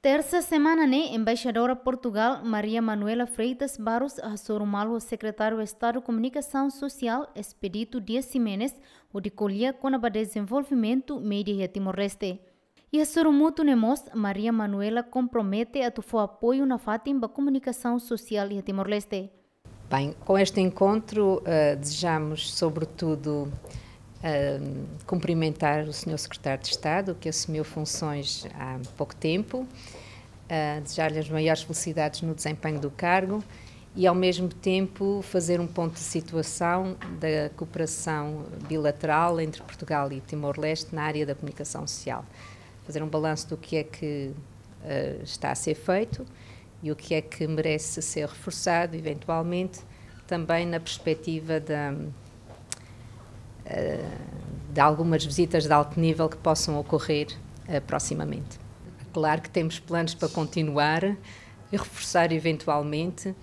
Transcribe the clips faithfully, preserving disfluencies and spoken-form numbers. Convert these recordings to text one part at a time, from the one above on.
Tersa semana ne'e, Embaixadora Portugal, Maria Manuela Freitas Barros, hasoru malu ho Sekretáriu Estadu Komunikasaun Sosiál, Expedito Dias Ximenes, hodi ko'alia kona-ba dezenvolvimentu média iha Timor-Leste. Iha sorumutu ne'e mós, Maria Manuela kompromete atu fó apoiu nafatin ba komunikasaun sosiál iha Timor-Leste. Bem, com este encontro, eh, desejamos, sobretudo, eh, cumprimentar o senhor Secretário de Estado, que assumiu funções há pouco tempo, eh, desejar-lhe as maiores felicidades no desempenho do cargo e, ao mesmo tempo, fazer um ponto de situação da cooperação bilateral entre Portugal e Timor-Leste na área da comunicação social. Fazer um balanço do que é que, eh, está a ser feito e o que é que merece ser reforçado, eventualmente, também na perspectiva da, eh, de algumas visitas de alto nível que possam ocorrer, eh, proximamente. Claro que temos planos para continuar e reforçar eventualmente.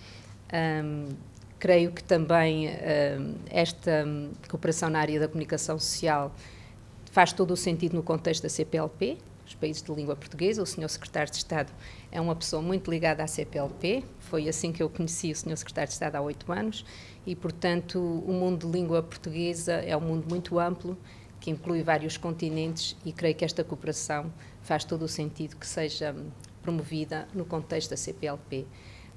Ahm, creio que também, ahm, esta, hum, cooperação na área da comunicação social faz todo o sentido no contexto da C P L P, os países de língua portuguesa. O senhor Secretário de Estado é uma pessoa muito ligada à C P L P. Foi assim que eu conheci o senhor Secretário de Estado há oito anos e, portanto, o mundo de língua portuguesa é um mundo muito amplo, que inclui vários continentes, e creio que esta cooperação faz todo o sentido que seja promovida no contexto da C P L P.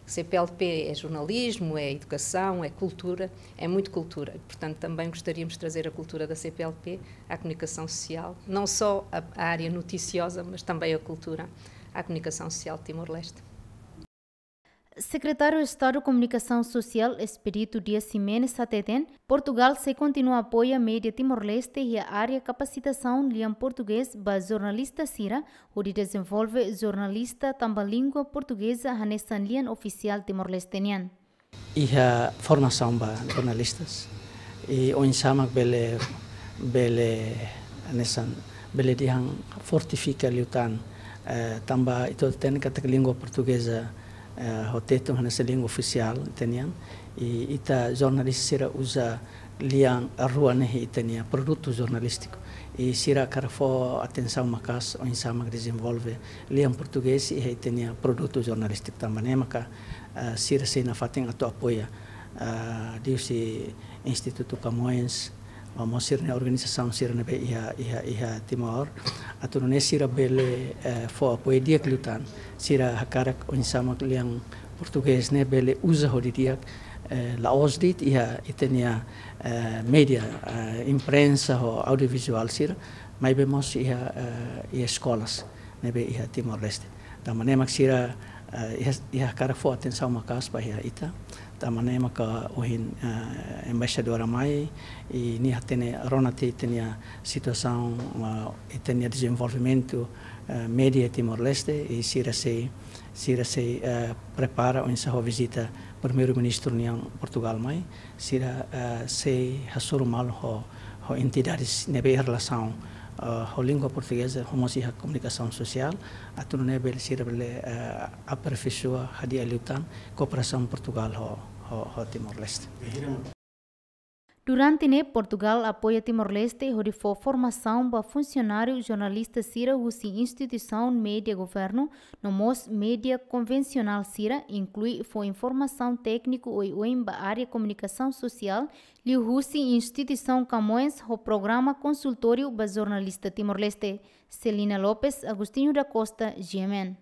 C P L P é jornalismo, é educação, é cultura, é muito cultura. Portanto, também gostaríamos de trazer a cultura da C P L P à comunicação social, não só a, a área noticiosa, mas também a cultura à comunicação social de Timor-Leste. Sekretáriu Estadu Komunikasaun Sosiál, Expedito Dias Ximenes, hateten, Portugal sei kontinua apoia média Timor-Leste iha área kapasitasaun lian portugés ba jornalista sira, hodi dezenvolve jornalista tanba língua portugeza hanesan lian ofisiál Timor-Leste nian. Iha formasaun ba jornalistas. I oinsá mak bele, bele hanesan, bele dehan fortifika liután, eh, tanba ita hatene katak língua portugeza, eh, ho Tetun hanesan língua ofisiál ita-nian. I ita jornalista sira uza lian rua ne'e iha ita-nia produtu jornalístiku. I sira hakarak fó atensaun maka'as oinsá mak dezenvolve lian portugés iha ita-nia produtu jornalístiku, tanba ne'e maka, eh, sira sei nafatin atu apoia, eh, liuhusi Institutu Camões, no mós sira-nia organizasaun sira ne'ebé iha, iha, iha Timor. Atu nune'e sira bele, eh, fó apoiu di'ak liután. Sira hakarak oinsá mak lian portugés ne'e bele uza ho di'ak, eh, la'ós de'it iha ita-nia, eh, média, eh, imprensa ho audiovizuál sira, maibé mós iha, eh, iha eskolas ne'ebé iha Timor-Leste. Tanba ne'e mak sira, eh, iha, iha hakarak fó atensaun maka'as ba iha ita. Tanba ne'e maka ohin, eh, embaixadora mai, i nia hatene rona tiha ita-nia situasaun, eh, ita-nia dezenvolvimentu, eh, média Timor-Leste, i sira sei, sira sei, eh, prepara oinsá ho vizita Primeiru-Ministru nian Portugal mai, sira, eh, sei hasoru malu ho, ho entidades ne'ebé iha relasaun, eh, ho língua portugeza, ho mós iha komunikasaun sosiál, atu nune'e bele sira bele, eh, aperfeisoa hadi'a liután kooperasaun Portugal ho, ho, ho Timor-Leste. Durante ne'e, Portugal apoia Timor-Leste hodi fó formasaun ba funsionáriu jornalista sira husi instituisaun média governu, no mós média konvensionál sira, inklui fó informasaun tékniku oioin ba área komunikasaun sosiál, liuhusi instituisaun Camões ho programa konsultóriu ba jornalista Timor-Leste. Celina Lopes, Agostinho da Costa, G M N.